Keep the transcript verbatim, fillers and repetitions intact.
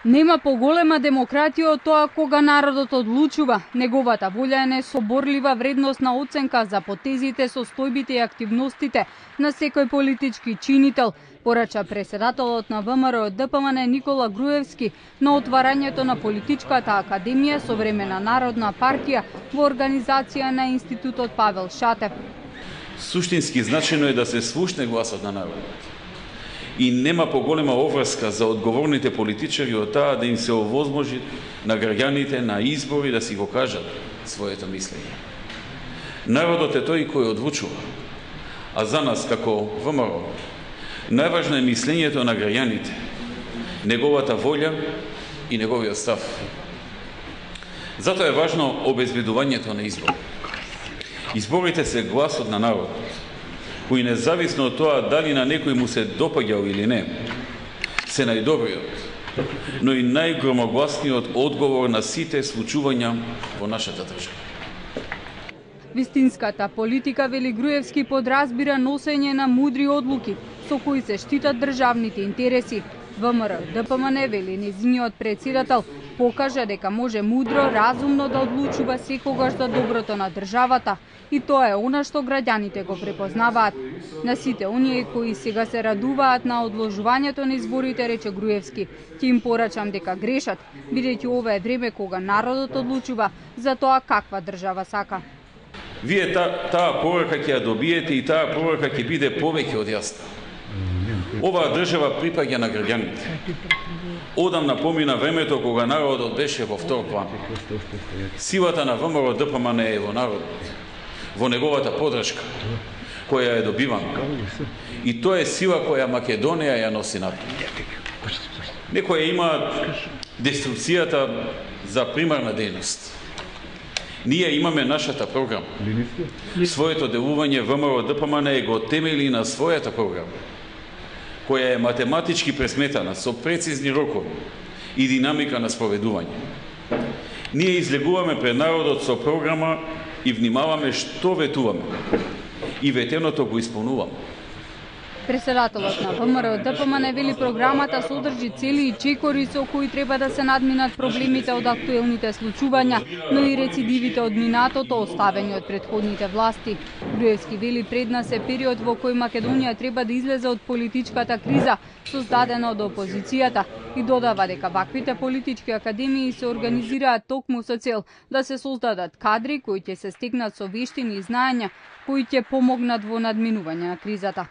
Нема поголема демократија од тоа кога народот одлучува. Неговата волја е несоборлива вредностна оценка за потезите, состојбите и активностите на секој политички чинител, порача преседателот на ВМРО Д П М Н Никола Груевски на отварањето на Политичката академија Современа народна партија во организација на Институтот Павел Шатев. Суштински значено е да се слушне гласот на народот. И нема поголема обврска за одговорните политичари од таа да им се овозможи на граѓаните на избори да си го кажат своето мислење. Народот е тој кој одлучува, а за нас како ВМРО најважно е мислењето на граѓаните, неговата волја и неговиот став. Затоа е важно обезбедувањето на избори. Изборите се гласот на народот, кој независно од тоа дали на некој му се допаѓал или не, се најдобриот, но и најгромогласниот одговор на сите случувања во нашата држава. Вистинската политика, вели Груевски, подразбира носење на мудри одлуки со кои се штитат државните интереси. ВМРО Д П М Н, вели нејзиниот претседател, покажа дека може мудро, разумно да одлучува секогаш за доброто на државата, и тоа е она што граѓаните го препознаваат. На сите оние кои сега се радуваат на одложувањето на изборите, рече Груевски, ќе им порачам дека грешат, бидејќи ова е време кога народот одлучува за тоа каква држава сака. Вие та, таа порака ќе ја добиете и таа порака ќе биде повеќе од јасна. Оваа држава припаѓа на граѓаните. Одамна помина времето кога народот беше во втор план. Силата на ВМРО Д П М Н е во народот, во неговата подршка, која е добивана. И тоа е сила која Македонија ја носи напред. Некои имаат деструкцијата за примарна дејност. Ние имаме нашата програма. Своето делување ВМРО Д П М Н го темели на својата програма, која е математички пресметана со прецизни рокови и динамика на спроведување. Ние излегуваме пред народот со програма и внимаваме што ветуваме. И ветеното го исполнуваме. Преседателот на ВМРО Д П М Н вели програмата содржи цели и чекори со кои треба да се надминат проблемите од актуелните случувања, но и рецидивите од минатото оставени од претходните власти. Груевски вели пред нас е период во кој Македонија треба да излезе од политичката криза создадена од опозицијата и додава дека ваквите политички академии се организираат токму со цел да се создадат кадри кои ќе се стекнат со вештини и знаења кои ќе помогнат во надминување на кризата.